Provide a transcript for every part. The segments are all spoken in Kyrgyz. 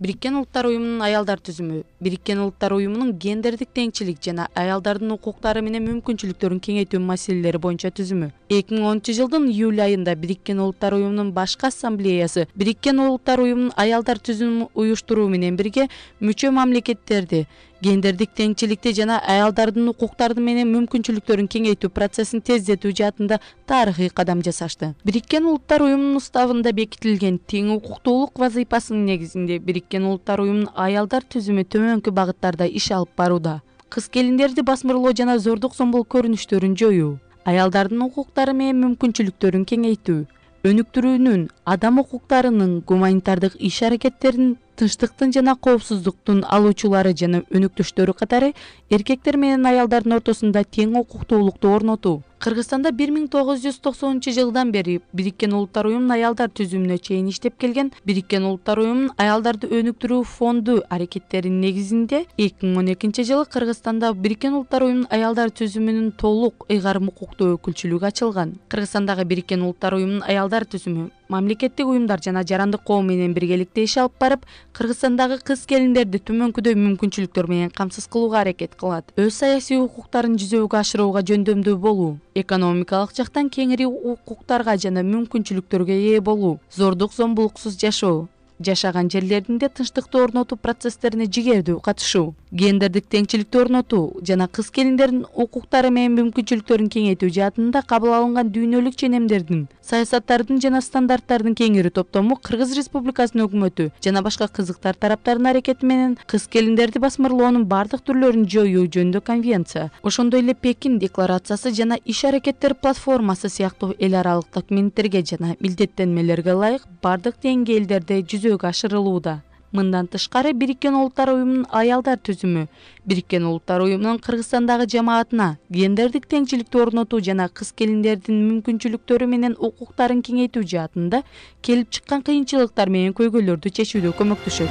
Бириккен Улуттар уюмунун аялдар түзүмү Бириккен Улуттар уюмунун гендердик теңчилик жана аялдардын укуктары менен мүмкүнчүлүктөрүн кеңейтүү маселелери боюнча түзүмү. 2010-жылдын июль айында Бириккен Улуттар уюмунун башкы ассамблеясы Бириккен Улуттар уюмунун аялдар түзүмүн уюштуруу менен бирге мүчө мамлекеттерди гендердик теңчиликти жана аялдардын укуктары менен мүмкүнчүлүктөрүн кеңейтүү процессин тездетүү жаатында тарыхый кадам жасашты. Бириккен Улуттар уюмунун уставында бекитилген тең укуктуулук вазыйпасынын негизинде Бириккен Улуттар уюмунун аялдар түзүмү төмөнкү багыттарда иш алып барууда. Кыз келиндерди басмырлоо жана зордук зомбулук көрүнүштөрүн жоюу, аялдардын укуктары менен мүмкүнчүлүктөрүн кеңейтүү, өнүктүрүүнүн, адам укуктарынын, гуманитардык иш-аракеттердин, тынчтыктын жана коопсуздуктун алуучулары жана өнүктүштөрү катары эркектер менен аялдардын ортосунда тең укуктуулукту орнотуу. Кыргызстанда 1990-жылдан бери Бириккен Улуттар уюмунун аялдар түзүмүнө чейин иштеп келген Бириккен Улуттар уюмунун аялдарды өнүктүрүү фонду аракеттеринин негизинде 2012-жылы Кыргызстанда Бириккен Улуттар уюмунун аялдар түзүмүнүн толук ыйгарым укуктуу өкүлчүлүгү ачылган. Кыргызстандагы Бириккен Улуттар уюмунун аялдар түзүмү мамлекеттик уюмдар жана жарандык коом менен биргеликте иш алып барып, Кыргызстандагы кыз келиндерди төмөнкүдөй мүмкүнчүлүктөр менен камсыз кылууга аракет кылат. Өз саясий укуктарын жүзөгө ашырууга жөндөмдүү болуу, экономикалык жактан кеңири укуктарга жана мүмкүнчүлүктөргө ээ болуу, зордук зомбулуксуз жашоо, жашаган жерлеринде тынчтыкты орнотуу процесстерине жигердүү катышуу, гендердик теңчиликти орнотуу жана кыз келиндердин укуктары менен мүмкүнчүлүктөрүн кеңейтүү жаатында кабыл алынган дүйнөлүк ченемдердин, саясаттардын жана стандарттардын кеңири топтому Кыргыз Республикасынын өкмөтү жана башка кызыктар тараптарынын аракети менен кыз келиндерди басмырлоонун бардык түрлөрүн жоюу жөнүндө конвенция, ошондой эле Пекин декларациясы жана иш-аракеттер платформасы сыяктуу эл аралык документтерге жана милдеттенмелерге ылайык бардык деңгээлдерде жүзөгө ашырылууда. Мындан тышкары Бириккен Улуттар уюмунун аялдар түзүмү Бириккен Улуттар уюмунун Кыргызстандагы жамаатына гендердик теңчиликти орнотуу жана кыз келиндердин мүмкүнчүлүктөрү менен укуктарын кеңейтүү жаатында келип чыккан кыйынчылыктар менен көйгөйлөрдү чечүүдө көмөктөшөт.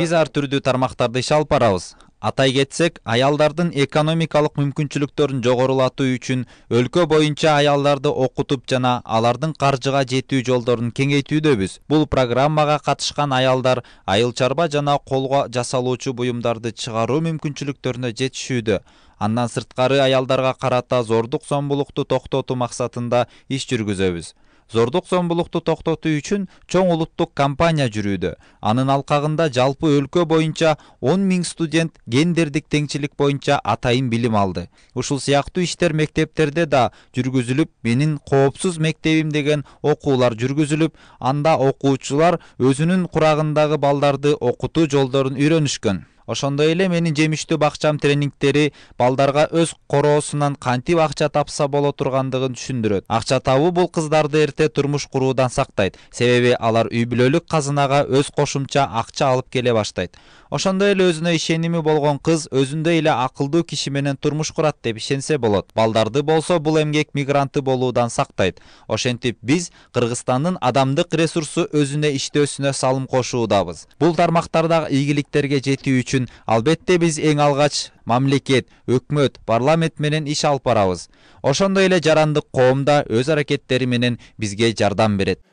Биз ар түрдүү тармактарда иш алып барабыз. Атай кетсек, аялдардын экономикалык мүмкүнчүлүктөрүн жогорулатуу үчүн өлкө боюнча аялдарды окутуп жана алардын каржыга жетүү жолдорун кеңейтүүдөбүз. Бул программага катышкан аялдар айыл чарба жана колго жасалуучу буюмдарды чыгаруу мүмкүнчүлүктөрүнө жетишүүдө. Андан сырткары аялдарга карата зордук зомбулукту токтотуу максатында иш жүргүзөбүз. Зордук зомбулукту токтотуу үчүн чоң улуттук кампания жүрүүдө. Анын алкагында жалпы өлкө боюнча 10 000 студент гендердик теңчилик боюнча атайын билим алды. Ушул сыяктуу иштер мектептерде да жүргүзүлүп, менин коопсуз мектебим деген окуулар жүргүзүлүп, анда окуучулар өзүнүн курагындагы балдарды окутуу жолдорун үйрөнүшкөн. Ошондой эле менин жемиштүү бакчам тренингтери балдарга өз короосунан кантип акча тапса боло тургандыгын түшүндүрөт. Акча табуу бул кыздарды эрте турмуш куруудан сактайт, себеби алар үй бүлөлүк казынага өз кошумча акча алып келе баштайт. Ошондой эле өзүнө ишеними болгон кыз өзүндөй эле акылдуу киши менен турмуш курат деп ишенсе болот. Балдарды болсо бул эмгек мигранты болуудан сактайт. Ошентип биз Кыргызстандын адамдык ресурсу өзүнө иштөөсүнө салым кошуудабыз. Бул тармактардагы ийгиликтерге жетүү үчүн албетте биз эң алгач мамлекет, өкмөт, парламент менен иш алып барабыз. Ошондой эле жарандык коом да өз аракеттери менен бизге жардам берет.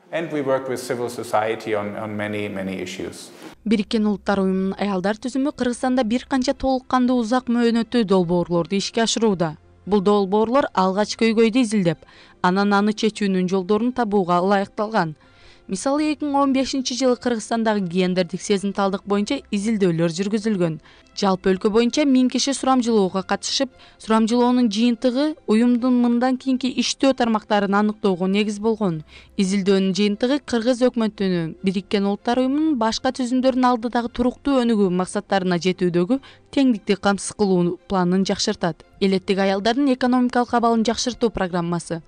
Бириккен Улуттар уюмунун аялдар түзүмү Кыргызстанда бир канча толук кандуу узак мөөнөттүү долбоорлорду ишке ашырууда. Бул долбоорлор алгач көйгөйдү изилдеп, анан аны чечүүнүн жолдорун табууга ылайыкталган. Мисалы 2015-жылы Кыргызстандагы гендердик сезимталдык боюнча изилдөөлөр жүргүзүлгөн. Жалпы өлкө боюнча 1000 киши сурамжылоого катышып, сурамжылоонун жыйынтыгы уюмдун мындан кийинки иштөө тармактарын аныктоого негиз болгон. Изилдөөнүн жыйынтыгы Кыргыз өкмөтүнүн Бириккен Улуттар уюмунун башка түзүмдөрүнүн алдыдагы туруктуу өнүгүү максаттарына жетүүдөгү теңдикти камсыз кылуу планын жакшыртат. Элеттик аялдардын экономикалык абалын жакшыртуу программасы.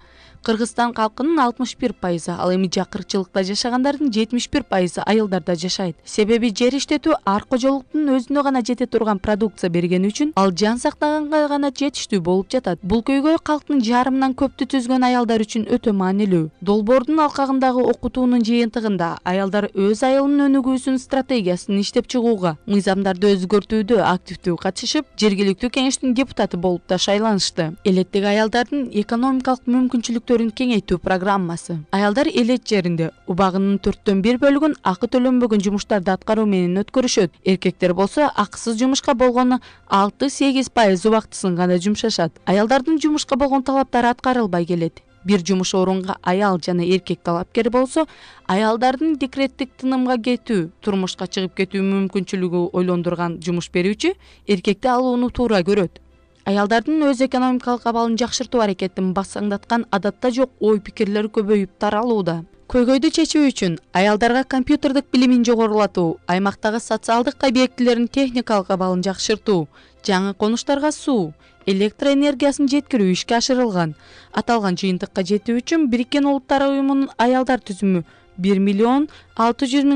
Кыргызстан калкынын 61%, ал эми жакырчылыкта жашагандардын 71% айылдарда жашайт. Себеби жер иштетүү ар кожолуктун өзүнө гана жетет турган продукция бергени үчүн ал жан сактаганга гана жетиштүү болуп жатат. Бул көйгөй калктын жарымынан көптү түзгөн аялдар үчүн өтө маанилүү. Долбоордун алкагындагы окутуунун жыйынтыгында аялдар өз айылынын өнүгүүсүнүн стратегиясын иштеп чыгууга, мыйзамдарды өзгөртүүдө активдүү катышып, жергиликтүү кеңештин депутаты болуп да шайланышты. Элеттеги аялдардын экономикалык мүмкүнчүлүктөрүн кеңейтүү программасы. Аялдар элет жеринде убагынын 1/4 бөлүгүн акы төлөнбөгөн жумуштарды аткаруу менен өткөрүшөт. Эркектер болсо акысыз жумушка болгону 6-8% убактысын гана жумшашат. Аялдардын жумушка болгон талаптары аткарылбай келет. Бир жумуш орунга аял жана эркек талапкер болсо, аялдардын декреттик тынымга кетүү, турмушка чыгып кетүү мүмкүнчүлүгү ойлондурган жумуш берүүчү эркекти алууну туура көрөт. Аялдардын өз экономикалык абалын жакшыртуу аракетин басаңдаткан адатта жок ой-пикирлер көбөйүп таралууда. Көйгөйдү чечүү үчүн аялдарга компьютердик билимин жогорулатуу, аймактагы социалдык объектилердин техникалык абалын жакшыртуу, жаңы конуштарга суу, электр энергиясын жеткирүү ишке ашырылган. Аталган жыйынтыкка жетүү үчүн Бириккен Улуттар уюмунун аялдар түзүмү 1,6 миллион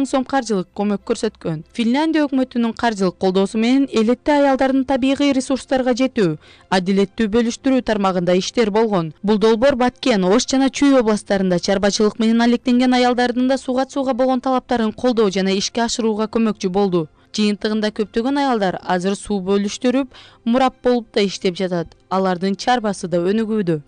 сом каржылык көмөк көрсөткөн. Финляндия өкмөтүнүн каржылык колдоосу менен элетте аялдардын табигый ресурстарга жетүү, адилеттүү бөлүштүрүү тармагында иштер болгон. Бул долбоор Баткен, Ош жана Чүй областарында чарбачылык менен алектенген аялдардын да суга болгон талаптарын колдоо жана ишке ашырууга көмөкчү болду. Жыйынтыгында көптөгөн аялдар азыр суу бөлүштүрүп, мурап болуп да иштеп жатат. Алардын чарбасы да өнүгүүдө.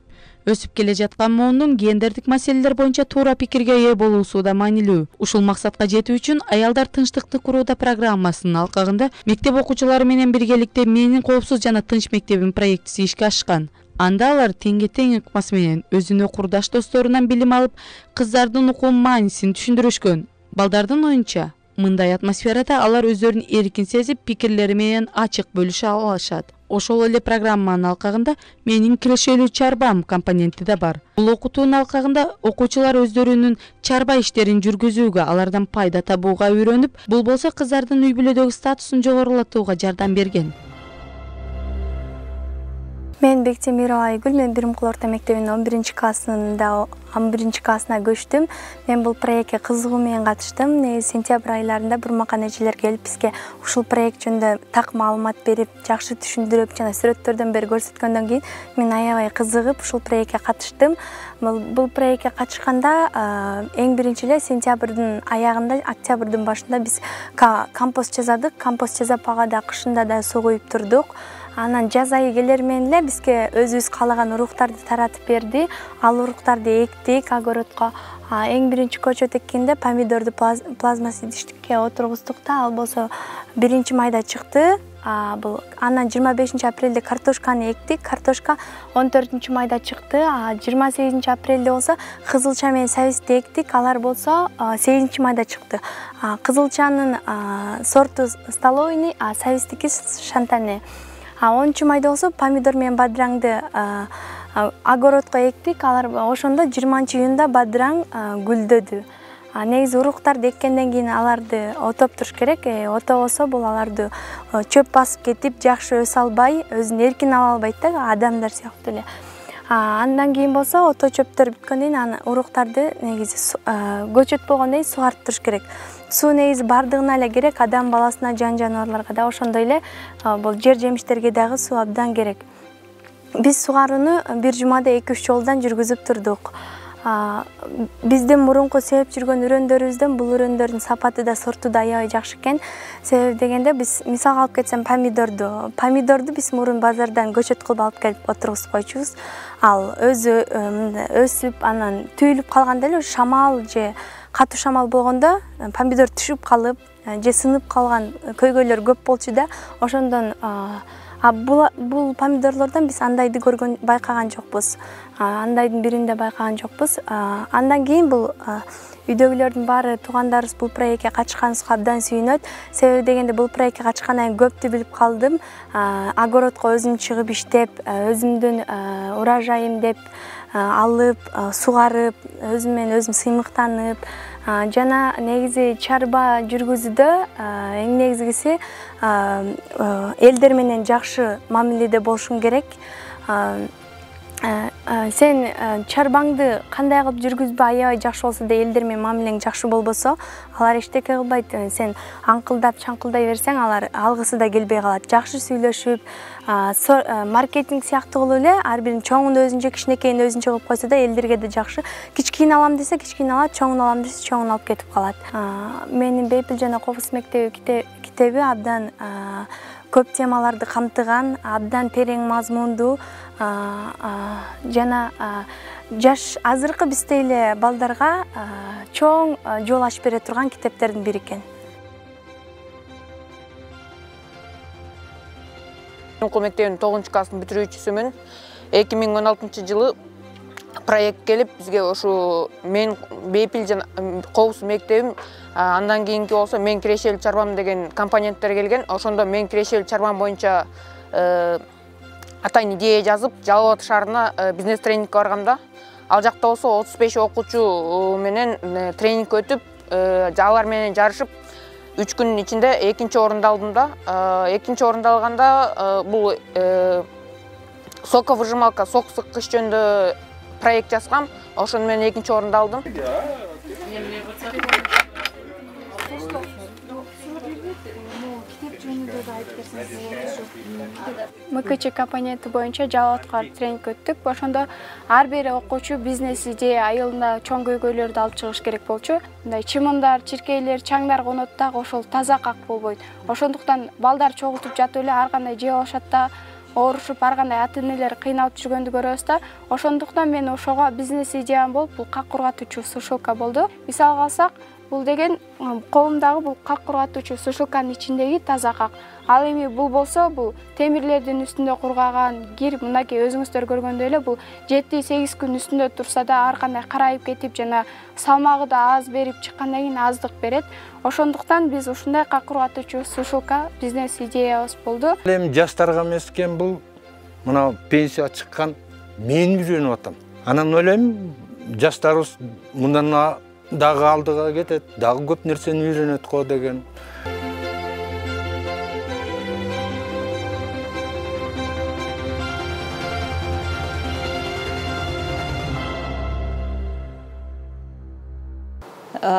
Өсүп келе жаткан муундун гендердик маселелер боюнча туура пикирге ээ болуусу да маанилүү. Ушул максатка жетүү үчүн аялдар тынчтыкты курууда программасынын алкагында мектеп окуучулары менен биргеликте Менин коопсуз жана тынч мектебим проектиси ишке ашкан. Анда алар теңге тең ыкмасы менен өзүнө курдаш досторунан билим алып, кыздардын укум маанисин түшүндүрүшкөн. Балдардын оюнча, мындай атмосферада алар өздөрүн эркин сезип, пикирлери менен ачык бөлүшө алышат. Ошол эле программанын алкагында Менин кирешелүү чарбам компоненти да бар. Бул окутуунун алкагында окуучулар өздөрүнүн чарба иштерин жүргүзүүгө, алардан пайда табууга үйрөнүп, бул болсо кыздардын үй бүлөдөгү статусун жогорулатууга жардам берген. Мен Бектем Мирова Айгүл, мен Биримкул орто мектебинин 11 классына көчтүм. Мен бул проектке кызыгуу менен катыштым. Сентябрь айларында бурмакан эжелер келип бизге ушул проект жөнүндө так маалымат берип, жакшы түшүндүрүп жана сүрөттөрдөн бери көрсөткөндөн кийин мен аябай кызыгып ушул проектке катыштым. Бул проектке катышканда эң биринчи эле сентябрдын аягында, октябрдын башында биз компост жазадык. Компост жазап ага да кышында да суу куюп турдук. Анан жаз айы келер менен эле бизге өзүбүз каалаган уруктарды таратып берди. Ал уруктарды эктик огородко. Эң биринчи көчөт эккенде помидорду плазмасидиштикке отургуздук да, ал болсо 1-майда чыкты. Бул анан 25-апрелде картошканы эктик. Картошка 14-майда чыкты. 28-апрелде болсо кызылча менен сабизди эктик. Алар болсо 8-майда чыкты. Кызылчанын сорту столовыйный, сабиздики шантане. 10-майда болсо помидор менен бадыраңды огородко эктик. Алар ошондо 20-июнда бадыраң гүлдөдү. Негизи уруктарды эккенден кийин аларды отоп туруш керек. Отобосо бул аларды чөп басып кетип, жакшы өсө албай, өзүн эркин ала албайт да, адамдар сыяктуу эле. Андан кийин болсо ото чөптөр бүткөндөн кийин уруктарды негизи көчөт болгондон кийин сугарып туруш керек. Суу негизи бардыгына эле керек, адам баласына, жан жаныбарларга да, ошондой эле бул жер жемиштерге дагы суу абдан керек. Биз сугарууну бир жумада 2-3 жолдон жүргүзүп турдук. Биздин мурунку себеп жүргөн үрөндөрүбүздөн бул үрөндөрдүн сапаты да, сорту да аябай жакшы экен. Себеби дегенде биз мисалга алып кетсем помидорду биз мурун базардан көчөт кылып алып келип отургузуп койчубуз. Ал өзү өсүп, анан түйүлүп калганда эле шамал же катуу шамал болгондо помидор түшүп калып же сынып калган көйгөйлөр көп болчу да. Ошондон бул помидорлордон биз андайды байкаган жокпуз. Андайдын биринде байкаган жокпуз. Андан кийин бул үйдөгүлөрдүн баары, туугандарыбыз бул проектке катышканыбызга абдан сүйүнөт. Себеби дегенде бул проектке катышкандан кийин көптү билип калдым. Огородко өзүм чыгып иштеп, өзүмдүн урожайым деп алып, сугарып, өзүм менен өзүм сыймыктанып, жана негизи чарба жүргүзүүдө эң негизгиси элдер менен жакшы мамиледе болушуң керек. сен чарбаңды кандай кылып жүргүзбө аябай жакшы болсо да элдер менен мамилең жакшы болбосо алар эчтеке кылбайт. Сен аңкылдап чаңкылдай берсең алар алгысы да келбей калат. Жакшы сүйлөшүп маркетинг сыяктуу кылып эле ар бирин чоңун өзүнчө кичинекейин өзүнчө кылып койсо да элдерге да жакшы. Кичкейин алам десе кичкейин алат, чоңун алам десе чоңун алып кетип калат. Менин Бейпил жана Кобус мектеби китеби абдан көп темаларды камтыган, абдан терең мазмундуу жана жаш азыркы бизде эле балдарга чоң жол ачып бере турган китептердин бири экен. Мектебинин 9-класстын бүтүрүүчүсүмүн. 2016-жылы проект келип бизге ошо мен Бейпил жана Кобус мектебим, андан кийинки болсо мен кирешелүү чарбам деген компоненттер келген. Ошондо мен кирешелүү чарбам боюнча атайын идея жазып, Жалал Абад шаарына бизнес тренингке баргамда, ал жакта болсо 35 окуучу менен тренинг өтүп, алар менен жарышып 3 күнүн ичинде 2-нчи орунду алдым да. 2-нчи орунду алганда бул соковыжималка, сок сыккыч жөнүндө проект жазгам. Ошону менен 2-нчи орунду алдым. МКЧ компоненти боюнча Жалал Абадка тренинг өттүк. Ошондо ар бир окуучу бизнес идея айылына чоң көйгөйлөрдү алып чыгыш керек болчу. Мындай чымындар, чиркейлер, чаңдар конот дагы ошол таза как болбойт. Ошондуктан балдар чогултуп жатып эле ар кандай жеп алышат да, оорушуп ар кандай ата-энелер кыйналып жүргөндү көрөбүз да. Ошондуктан мен ошого бизнес идеям болуп, бул как кургатуучу сушилка болду. Мисалга алсак, бул деген колумдагы бул как кургатуучу сушилканын ичиндеги таза как. Ал эми бул болсо, бул темирлердин үстүндө кургаган кир, мынакей өзүңүздөр көргөндөй эле бул 7-8 күн үстүндө турса да ар кандай карайып кетип жана салмагы да аз берип чыккандан кийин аздык берет. Ошондуктан биз ушундай как кургатуучу сушилка бизнес идеябыз болду. Эми жаштарга эмес экен, бул мына пенсияга чыккан мен үйрөнүп атам. Анан ойлойм, жаштарыбыз мындан дагы алдыга кетет, дагы көп нерсени үйрөнөт го деген.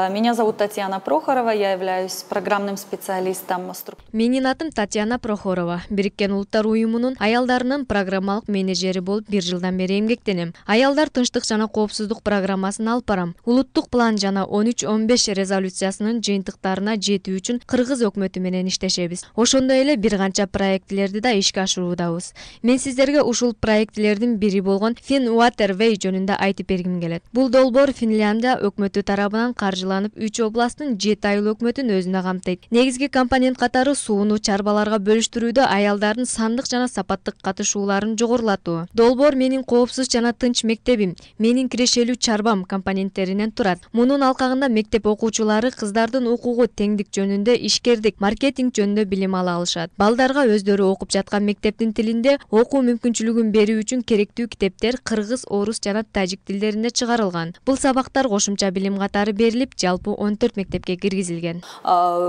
Меня зовут Татьяна Прохорова, я являюсь программным специалистом. Менин атым Татьяна Прохорова. Бириккен Улуттар уюмунун аялдарынын программалык менеджери болуп 1 жылдан бери эмгектенем. Аялдар тынчтык жана коопсуздук программасын алып барам. Улуттук план жана 13-15 резолюциясынын жыйынтыктарына жетүү үчүн Кыргыз өкмөтү менен иштешебиз. Ошондой эле бир канча проектлерди да ишке ашыруудабыз. Мен сиздерге ушул проектлердин бири болгон FinWaterway жөнүндө айтып бергим келет. Бул долбоор Финляндия өкмөтү тарабынан каржыланып 3 областтын 7 айыл өкмөтүн өзүнө камтыйт. Негизги компонент катары сууну чарбаларга бөлүштүрүүдө аялдардын сандык жана сапаттык катышууларын жогорулатуу. Долбоор менин коопсуз жана тынч мектебим, менин кирешелүү чарбам компоненттеринен турат. Мунун алкагында мектеп окуучулары кыздардын укугу теңдик жөнүндө, ишкердик, маркетинг жөнүндө билим ала алышат. Балдарга өздөрү окуп жаткан мектептин тилинде окуу мүмкүнчүлүгүн берүү үчүн керектүү китептер кыргыз, орус жана тажик тилдеринде чыгарылган. Бул сабактар кошумча билим катары берилип, жалпы 14 мектепке киргизилген.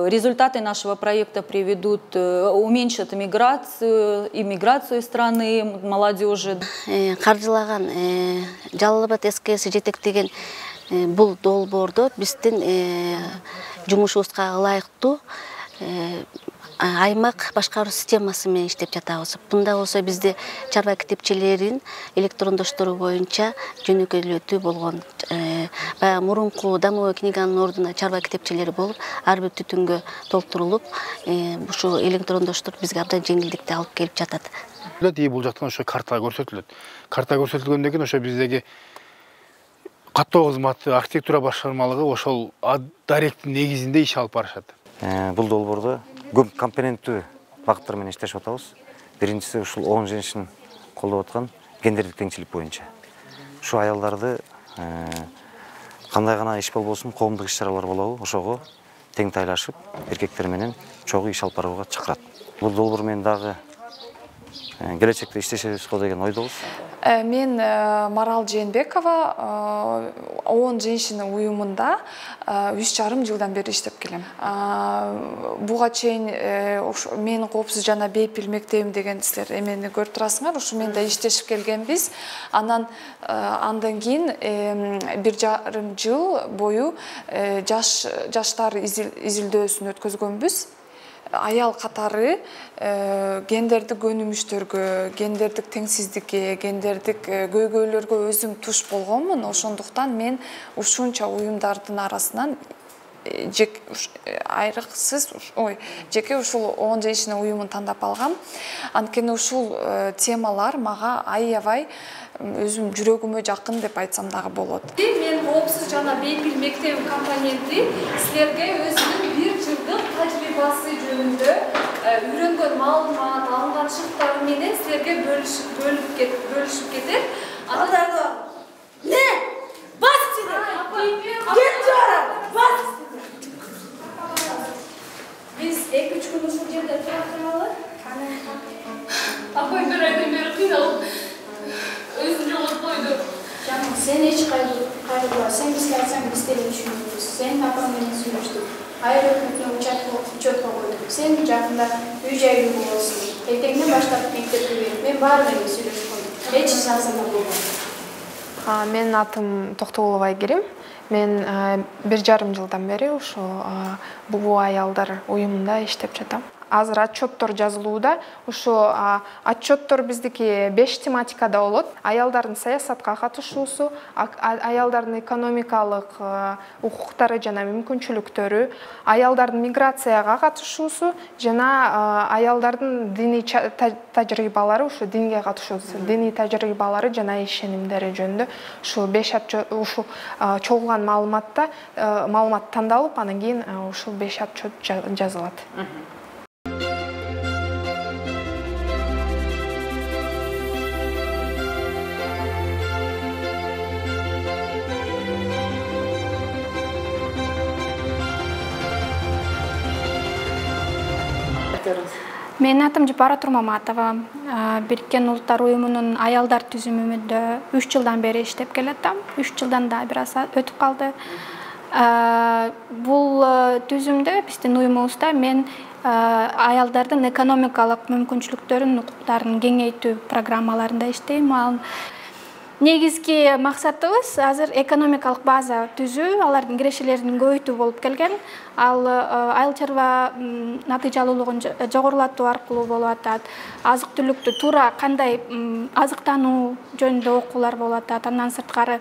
Результаты нашего проекта приведут, уменьшат иммиграцию страны, молодежи. Каржылаган Жалал Абад СКС жетектеген бул долбоордо биздин жумушубузга ылайыктуу аймак башкаруу системасы менен иштеп жатабыз. Бунда болсо бизде чарба китепчелерин электрондоштуруу боюнча жөнөкөйлөтүү болгон. Баягы мурунку домовой книганын ордуна чарба китепчелери болуп, ар бир түтүнгө толтурулуп, ушул электрондоштуруп бизге абдан жеңилдикти алып келип жатат. Бул жактан ошо карта көрсөтүлөт. Карта көрсөтүлгөндөн кийин ошо биздеги каттоо кызматы, архитектура башкармалыгы ошол даректин негизинде иш алып барышат. Бул долбоордо көп компоненттүү багыттар менен иштешип атабыз. Биринчиси ушул 10 женщин колдоп аткан гендердик теңчилик боюнча. Ушу аялдарды кандай гана иш болбосун, коомдук иш-чаралар болобу, ошого тең тайлашып, эркектер менен чогуу иш алып барууга чакырат. Бул долбоор менен дагы келечекте иштешебиз го деген ойдобуз. Мен Марал Жээнбекова 10 женщина уюмунда 3,5 жылдан бери иштеп келем. Буга чейин менин коопсуз жана бейпил мектебим деген силер эмени көрүп турасыңар. Ушу менде иштешип келгенбиз. Андан кийин 1,5 жыл бою жаштар изилдөөсүн өткөзгөнбүз. Аял катары гендердик өнүмүштөргө, гендердик теңсиздикке, гендердик көйгөйлөргө өзүм туш болгонмун. Ошондуктан мен ушунча уюмдардын арасынан жеке ушул 10 женщина уюмун тандап алгам. Анткени ушул темалар мага аябай өзүм жүрөгүмө жакын деп айтсам дагы болот. Мен коопсуз жана бейпил мектебин компоненти силерге өзүнүн 1 жылдык тажрыйбасы жөнүндө үйрөнгөн маалымат, алынган шыктары менен силерге бөлүшүп кетет. Не? Бас сени! Кет жора! Бас! Биз 2-3 күн ушул жерде тура туралы. Апай бир айдан бери кыйналып өзүн жоготкойду. Жаным, сен эч кайгырба. Сен бизге айтсаң биз деле түшүнөбүз. Сен апаң менен сүйлөштүк. Айыл өкмөтүнө учетко койдук. Сен жакында үй-жайлуу болосуң. Эртеңден баштап мектепке берип, мен баары менен сүйлөшүп койдум. Эч жазыма болбойт. Менин атым Токтогулова Айгерим. Мен 1,5 жылдан бери ушу Бугу аялдар уюмунда иштеп жатам. Азыр отчеттор жазылууда. Ушу отчеттор биздики 5 тематикада болот. Аялдардын саясатка катышуусу, аялдардын экономикалык укуктары жана мүмкүнчүлүктөрү, аялдардын миграцияга катышуусу жана аялдардын диний тажрыйбалары, ушу динге катышуусу, диний тажрыйбалары жана ишенимдери жөнүндө ушу 5 ушу чогулган маалымат тандалып, анан кийин ушул 5 отчет жазылат. Менин атым Жапара Турмаматова. Бириккен Улуттар уюмунун аялдар түзүмүндө 3 жылдан бери иштеп келатам. 3 жылдан да бир аз өтүп калды. Бул түзүмдө биздин уюмубузда мен аялдардын экономикалык мүмкүнчүлүктөрүн, укуктарын кеңейтүү программаларында иштейм. Негизги максатыбыз азыр экономикалык база түзүү, алардын кирешелерин көбөйтүү болуп келген. Ал айыл чарба натыйжалуулугун жогорулатуу аркылуу болуп атат. Азык-түлүктү туура кандай азыктануу жөнүндө окуулар болуп атат. Андан сырткары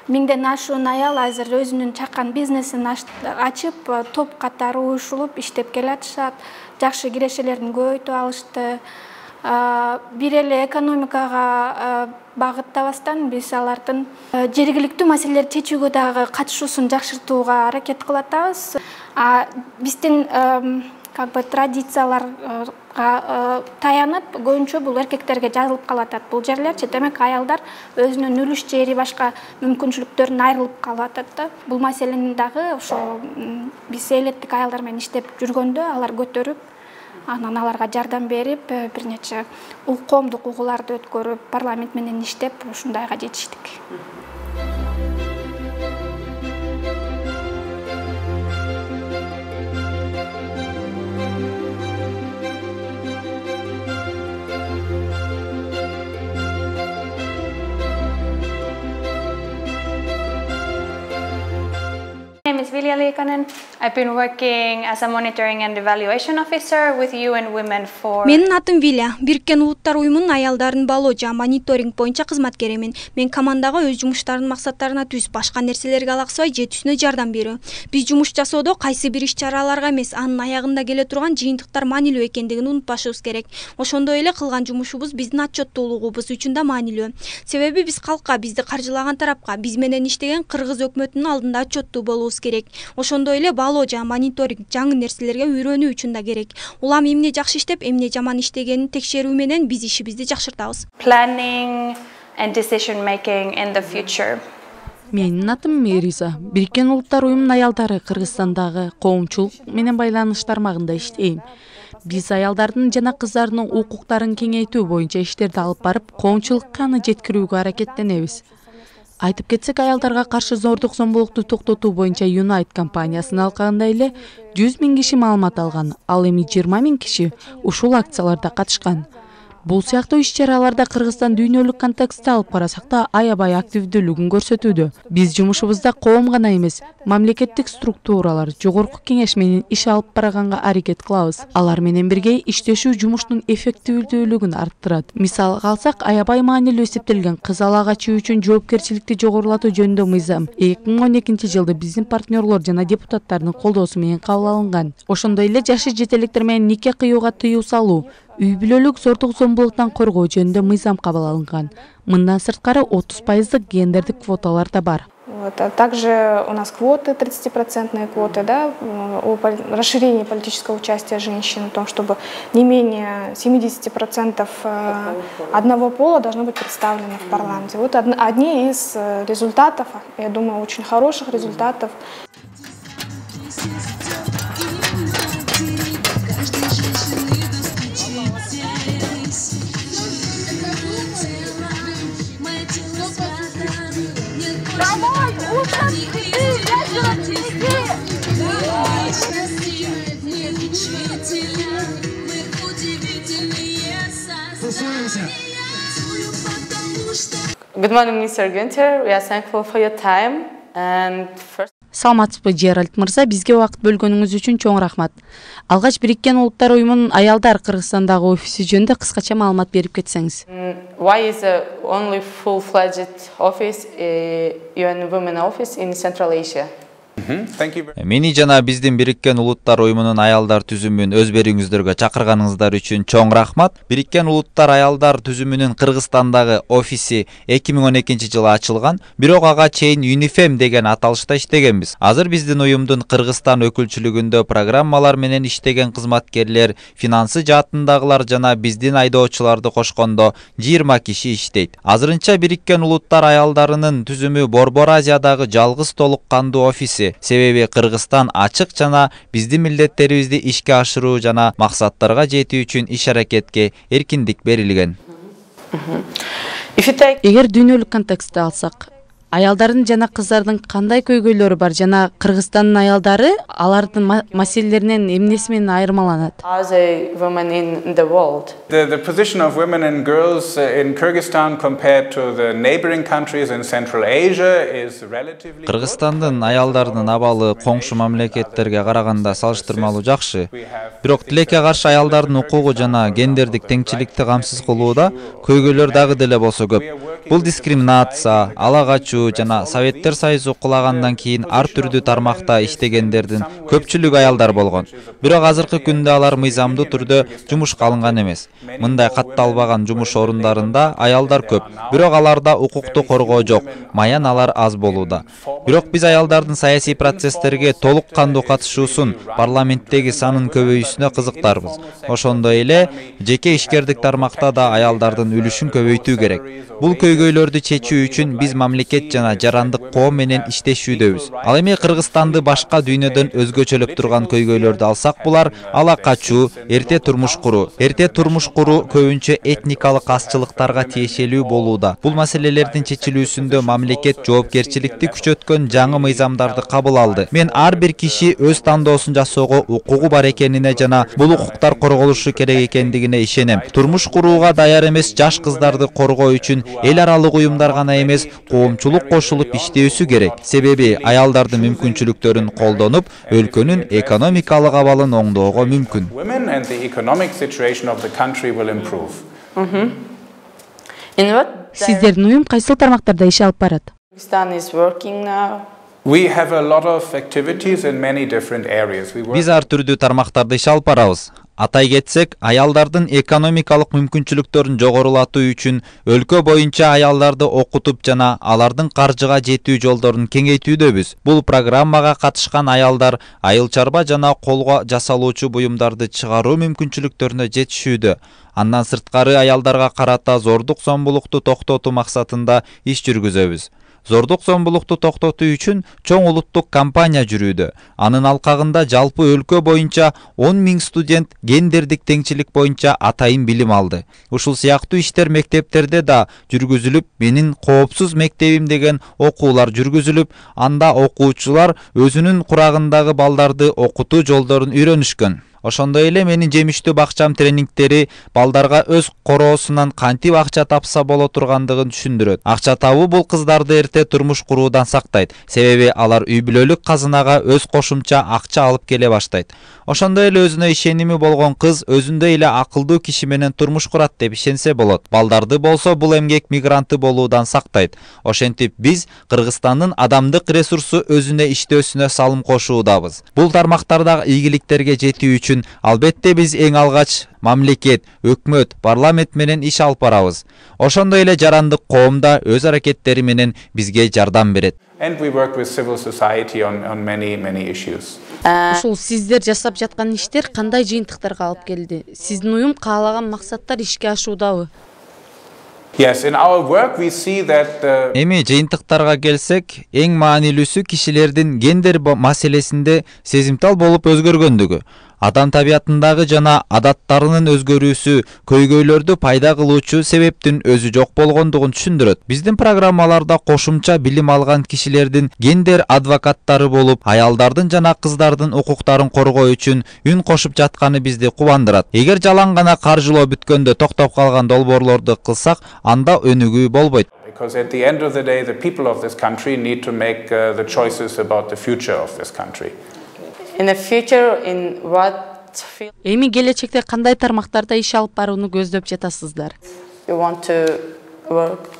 1000ден ашуун аял азыр өзүнүн чакан бизнесин ачып, топ катары уюшулуп иштеп келатышат. Жакшы кирешелерин көбөйтүп алышты. Бир эле экономикага багыттабастан биз алардын жергиликтүү маселелерди чечүүгө дагы катышуусун жакшыртууга аракет кылып атабыз. Биздин традицияларга таянып, көбүнчө бул эркектерге жазылып калып атат. Бул жерлерчи, демек аялдар өзүнүн үлүш жери, башка мүмкүнчүлүктөрүн айрылып калып атат да. Бул маселени дагы ошо биз элеттик аялдар менен иштеп жүргөндө алар көтөрүп, анан аларга жардам берип, бир нече коомдук угууларды өткөрүп, парламент менен иштеп, ушундайга жетиштик. My name is Vilja Liikanen. I've been working as a monitoring and evaluation officer with UN Women for... Менин атым Виля. Бириккен Улуттар уюмунун аялдарын балоо жана мониторинг боюнча кызматкеримин. Мен командага өз жумуштарынын максаттарына түз, башка нерселерге алаксыбай жетүүсүнө жардам берүү. Биз жумуш жасоодо кайсы бир иш-чараларга эмес, анын аягында келе турган жыйынтыктар маанилүү экендигин унутпашыбыз керек. Ошондой эле кылган жумушубуз биздин отчеттуулугубуз үчүн да маанилүү. Себеби биз калкка, бизди каржылаган тарапка, биз менен иштеген кыргыз өкмөтүнүн алдында отчеттуу болуубуз керек. Ошондой эле балоо жана мониторинг жаңы нерселерге үйрөнүү үчүн да керек. Улам эмне жакшы иштеп, эмне жаман иштегенин текшерүү менен биз ишибизди жакшыртабыз. Planning and decision making in the future. Менин атым Мериза. Бириккен Улуттар уюмунун аялдары Кыргызстандагы коомчулук менен байланыш тармагында иштейм. Биз аялдардын жана кыздардын укуктарын кеңейтүү боюнча иштерди алып барып, коомчулукка аны жеткирүүгө аракеттенебиз. Айтып кетсек, аялдарга каршы зордук зомбулукту токтотуу боюнча Unite компаниясынын алкагында эле 100 000 киши маалымат алган, ал эми 20 000 киши ушул акцияларда катышкан. Бул сыяктуу иш-чараларда Кыргызстан дүйнөлүк контекстте алып карасак да аябай активдүүлүгүн көрсөтүүдө. Биз жумушубузда коом гана эмес, мамлекеттик структуралар, жогорку кеңеш менен иш алып барганга аракет кылабыз. Алар менен бирге иштешүү жумуштун эффективдүүлүгүн арттырат. Мисалга алсак, аябай маанилүү эсептелген кыз ала качуу үчүн жоопкерчиликти жогорулатуу жөнүндө мыйзам 2012-жылы биздин партнерлор жана депутаттардын колдоосу менен кабыл алынган. Ошондой эле жашы жете электер менен нике кыюуга тыюу салуу, үй бүлөлүк зордук зомбулуктан коргоо жөнүндө мыйзам кабыл алынган. Мындан сырткары 30% гендердик квоталар да бар. Также у нас квоты, 30% квоты, да, о расширении политического участия женщин, о том, чтобы не менее 70% одного пола должно быть представлено в парламенте. Вот одни из результатов, я думаю, очень хороших результатов. Good morning, Mr. Günther. We are thankful for your time. And first... Саламатсызбы, Жеральд мырза, бизге убакыт бөлгөнүңүз үчүн чоң рахмат. Алгач Бириккен Улуттар уюмунун аялдар Кыргызстандагы офиси жөнүндө кыскача маалымат берип кетсеңиз. Why is the only full-fledged office, UN Women Office in Central Asia? Мени жана биздин Бириккен Улуттар уюмунун аялдар түзүмүн өз берүүңүздөргө чакырганыңыздар үчүн чоң рахмат. Бириккен Улуттар аялдар түзүмүнүн Кыргызстандагы офиси 2012-жылы ачылган, бирок ага чейин UNIFEM деген аталышта иштегенбиз. Азыр биздин уюмдун Кыргызстан өкүлчүлүгүндө программалар менен иштеген кызматкерлер, финансы жаатындагылар жана биздин айдоочуларды кошкондо 20 киши иштейт. Азырынча Бириккен Улуттар аялдарынын түзүмү Борбор Азиядагы жалгыз толук кандуу офиси. Себеби Кыргызстан ачык жана биздин милдеттерибизди ишке ашыруу жана максаттарга жетүү үчүн иш-аракетке эркиндик берилген. Эгер дүйнөлүк контекстте алсак, аялдардын жана кыздардын кандай көйгөйлөрү бар жана Кыргызстандын аялдары алардын маселелеринен эмнеси менен айырмаланат? As a woman in the world. The position of women and girls in Kyrgyzstan compared to the neighboring countries in Central Asia is relatively. Кыргызстандын аялдарынын абалы коңшу мамлекеттерге караганда салыштырмалуу жакшы. Бирок тилекке каршы аялдардын укугу жана гендердик теңчиликти камсыз кылууда көйгөйлөр дагы деле болсо көп. Бул дискриминация, ала качуу жана Советтер Союзу кулагандан кийин ар түрдүү тармакта иштегендердин көпчүлүгү аялдар болгон. Бирок азыркы күндө алар мыйзамдуу түрдө жумушка алынган эмес. Мындай катталбаган жумуш орундарында аялдар көп, бирок аларда укукту коргоо жок, маяналар аз болууда. Бирок биз аялдардын саясий процесстерге толук кандуу катышуусун, парламенттеги санын көбөйүүсүнө кызыктарбыз. Ошондой эле жеке ишкердик тармакта да аялдардын үлүшүн көбөйтүү керек. Бул көйгөйлөрдү чечүү үчүн биз мамлекет жана жарандык коом менен иштешүүдөбүз. Ал эми Кыргызстанды башка дүйнөдөн өзгөчөлөп турган көйгөйлөрдү алсак, булар ала качуу, эрте турмуш куруу. Эрте турмуш куруу көбүнчө этникалык азчылыктарга тиешелүү болууда. Бул маселелердин чечилүүсүндө мамлекет жоопкерчиликти күчөткөн жаңы мыйзамдарды кабыл алды. Мен ар бир киши өз тандоосун жасоого укугу бар экенине жана бул укуктар корголушу керек экендигине ишенем. Турмуш курууга даяр эмес жаш кыздарды коргоо үчүн эл аралык уюмдар гана эмес, коомчулук кошулуп иштөөсү керек. Себеби аялдардын мүмкүнчүлүктөрүн колдонуп, өлкөнүн экономикалык абалын оңдоого мүмкүн. Сиздердин уюм кайсыл тармактарда иш алып барат? Биз ар түрдүү тармактарда иш алып барабыз. Атай кетсек, аялдардын экономикалык мүмкүнчүлүктөрүн жогорулатуу үчүн өлкө боюнча аялдарды окутуп жана алардын каржыга жетүү жолдорун кеңейтүүдөбүз. Бул программага катышкан аялдар айыл чарба жана колго жасалуучу буюмдарды чыгаруу мүмкүнчүлүктөрүнө жетишүүдө. Андан сырткары аялдарга карата зордук зомбулукту токтотуу максатында иш жүргүзөбүз. Зордук зомбулукту токтотуу үчүн чоң улуттук кампания жүрүүдө. Анын алкагында жалпы өлкө боюнча 10 000 студент гендердик теңчилик боюнча атайын билим алды. Ушул сыяктуу иштер мектептерде да жүргүзүлүп, менин коопсуз мектебим деген окуулар жүргүзүлүп, анда окуучулар өзүнүн курагындагы балдарды окутуу жолдорун үйрөнүшкөн. Ошондой эле менин жемиштүү бакчам тренингтери балдарга өз короосунан кантип акча тапса боло тургандыгын түшүндүрөт. Акча табуу бул кыздарды эрте турмуш куруудан сактайт, себеби алар үй бүлөлүк казынага өз кошумча акча алып келе баштайт. Ошондой эле өзүнө ишеними болгон кыз өзүндөй эле акылдуу киши менен турмуш курат деп ишенсе болот. Балдарды болсо бул эмгек мигранты болуудан сактайт. Ошентип биз Кыргызстандын адамдык ресурсу өзүнө иштөөсүнө салым кошуудабыз. Бул тармактардагы ийгиликтерге жетүү үчүн албетте биз эң алгач мамлекет, өкмөт, парламент менен иш алып барабыз. Ошондой эле жарандык коом да өз аракеттери менен бизге жардам берет. And we work with civil society on many issues. Ушул сиздер жасап жаткан иштер кандай жыйынтыктарга алып келди? Сиздин уюм каалаган максаттар ишке ашуудабы? Yes, in our work we see that Эми жыйынтыктарга келсек, эң маанилүүсү кишилердин гендер маселесинде сезимтал болуп өзгөргөндүгү. Адам табиятындагы жана адаттарынын өзгөрүүсү көйгөйлөрдү пайда кылуучу себептин өзү жок болгондугун түшүндүрөт. Биздин программаларда кошумча билим алган кишилердин гендер адвокаттары болуп, аялдардын жана кыздардын укуктарын коргоо үчүн үн кошуп жатканы бизди кубандырат. Эгер жалаң гана каржылоо бүткөндө токтоп калган долбоорлорду кылсак, анда өнүгүү болбойт. Because at the end of the day, the people of this country need to make the choices about the future of this country. In the future, in what field Эми келечекте кандай тармактарда иш алып барууну көздөп жатасыздар? you want to work?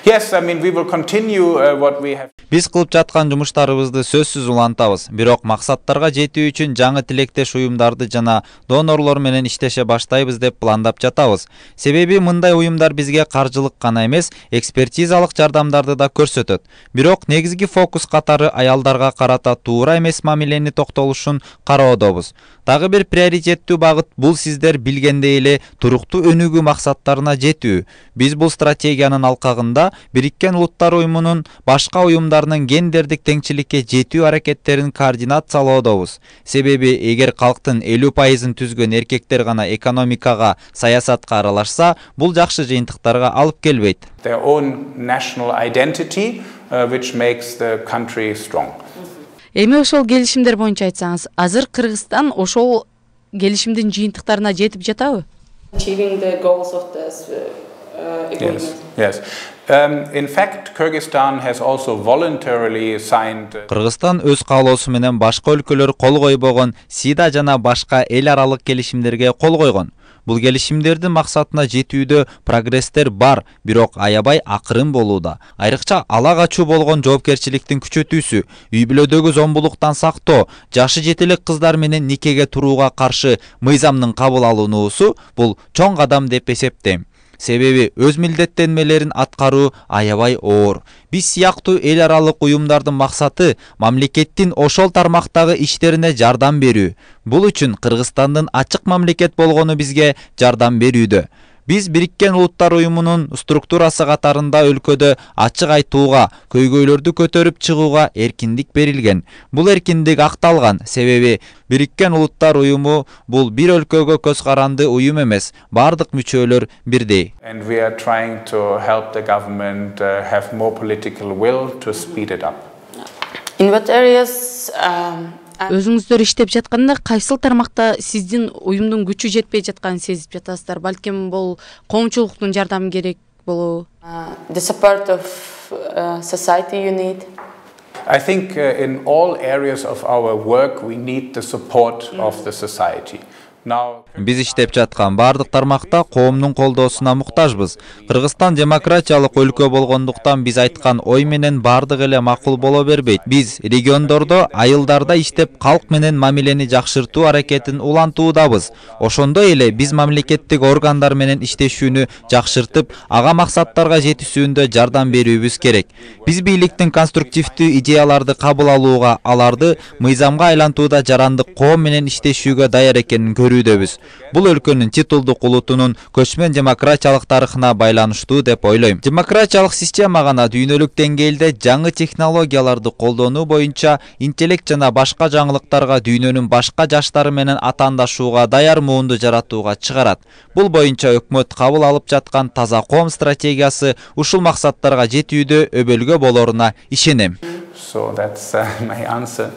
Yes, I mean we will continue what we have. Биз кылып жаткан жумуштарыбызды сөзсүз улантабыз. Бирок максаттарга жетүү үчүн жаңы тилектеш уюмдарды жана донорлор менен иштеше баштайбыз деп пландап жатабыз. Себеби мындай уюмдар бизге каржылык гана эмес, экспертизалык жардамдарды да көрсөтөт. Бирок негизги фокус катары аялдарга карата туура эмес мамилени токтолушун кароодобуз. Дагы бир приоритеттүү багыт бул сиздер билгендей эле туруктуу өнүгүү максаттарына жетүү. Биз бул стратегиянын алкагында Бириккен Улуттар уюмунун башка уюмдарынын гендердик теңчиликке жетүү аракеттерин координациялоодобуз. Себеби эгер калктын 50%-ын түзгөн эркектер гана экономикага, саясатка аралашса, бул жакшы жыйынтыктарга алып келбейт. Their own national identity, which makes the country strong. Эми ошол келишимдер боюнча айтсаңыз, азыр Кыргызстан ошол келишимдин жыйынтыктарына жетип жатабы? Achieving the goals of this agreement. Yes. In fact, Kyrgyzstan has also voluntarily signed. Кыргызстан өз каалоосу менен башка өлкөлөр кол койбогон СИДА жана башка эл аралык келишимдерге кол койгон. Бул келишимдердин максатына жетүүдө прогресстер бар, бирок аябай акырын болууда. Айрыкча ала качуу болгон жоопкерчиликтин күчөтүүсү, үй бүлөдөгү зомбулуктан сактоо, жашы жетелек кыздар менен никеге турууга каршы мыйзамдын кабыл алынуусу бул чоң кадам деп эсептейм. Себеби өз милдеттенмелерин аткаруу аябай оор. Биз сыяктуу эл аралык уюмдардын максаты мамлекеттин ошол тармактагы иштерине жардам берүү. Бул үчүн Кыргызстандын ачык мамлекет болгону бизге жардам берүүдө. Биз Бириккен Улуттар уюмунун структурасы катарында өлкөдө ачык айтууга, көйгөйлөрдү көтөрүп чыгууга эркиндик берилген. Бул эркиндик акталган, себеби Бириккен Улуттар уюму бул бир өлкөгө көз каранды уюм эмес, бардык мүчөлөр бирдей. And we are trying to help the government have more political will to speed it up. In what areas Өзүңүздөр иштеп жатканда кайсыл тармакта сиздин уюмдун күчү жетпей жатканын сезип жатасыздар? Балким бул коомчулуктун жардамы керек болобу? The support of society you need? I think in all areas of our work we need the support of the society. Биз иштеп жаткан бардык тармакта коомдун колдоосуна муктажбыз. Кыргызстан демократиялык өлкө болгондуктан биз айткан ой менен бардык эле макул боло бербейт. Биз региондордо айылдарда иштеп калк менен мамилени жакшыртуу аракетин улантуудабыз. Ошондой эле биз мамлекеттик органдар менен иштешүүнү жакшыртып, ага максаттарга жетүүсүндө жардам берүүбүз керек. Биз бийликтин конструктивдүү идеяларды кабыл алууга, аларды мыйзамга айлантууда жарандык коом менен иштешүүгө даяр экенин көрүп көрүүдөбүз. Бул өлкөнүн титулдук улутунун көчмөн демократиялык тарыхына байланыштуу деп ойлойм. Демократиялык система гана дүйнөлүк деңгээлде жаңы технологияларды колдонуу боюнча интеллект жана башка жаңылыктарга дүйнөнүн башка жаштары менен атаандашууга даяр муунду жаратууга чыгарат. Бул боюнча өкмөт кабыл алып жаткан таза коом стратегиясы ушул максаттарга жетүүдө өбөлгө болоруна ишенем. So that's my answer.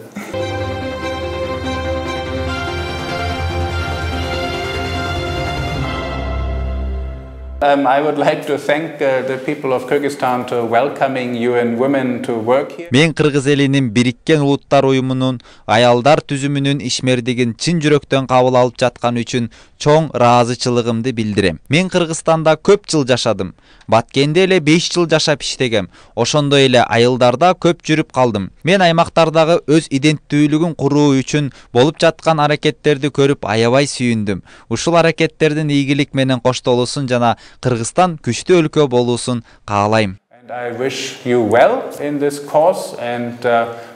I would like to thank the people of Kyrgyzstan to welcoming UN Women to work here. Мен Кыргыз элинин Бириккен Улуттар Уюмунун аялдар түзүмүнүн ишмердигин чын жүрөктөн кабыл алып жаткан үчүн чоң ыраазычылыгымды билдирем. Мен Кыргызстанда көп жыл жашадым. Баткенде эле 5 жыл жашап иштегем. Ошондой эле айылдарда көп жүрүп калдым. Мен аймактардагы өз иденттүүлүгүн куруу үчүн болуп жаткан аракеттерди көрүп аябай сүйүндүм. Ушул аракеттердин ийгилик менен коштолуусун жана Кыргызстан күчтүү өлкө болуусун каалайм. And I wish you well in this cause and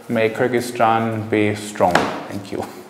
may Kyrgyzstan be strong. Thank you.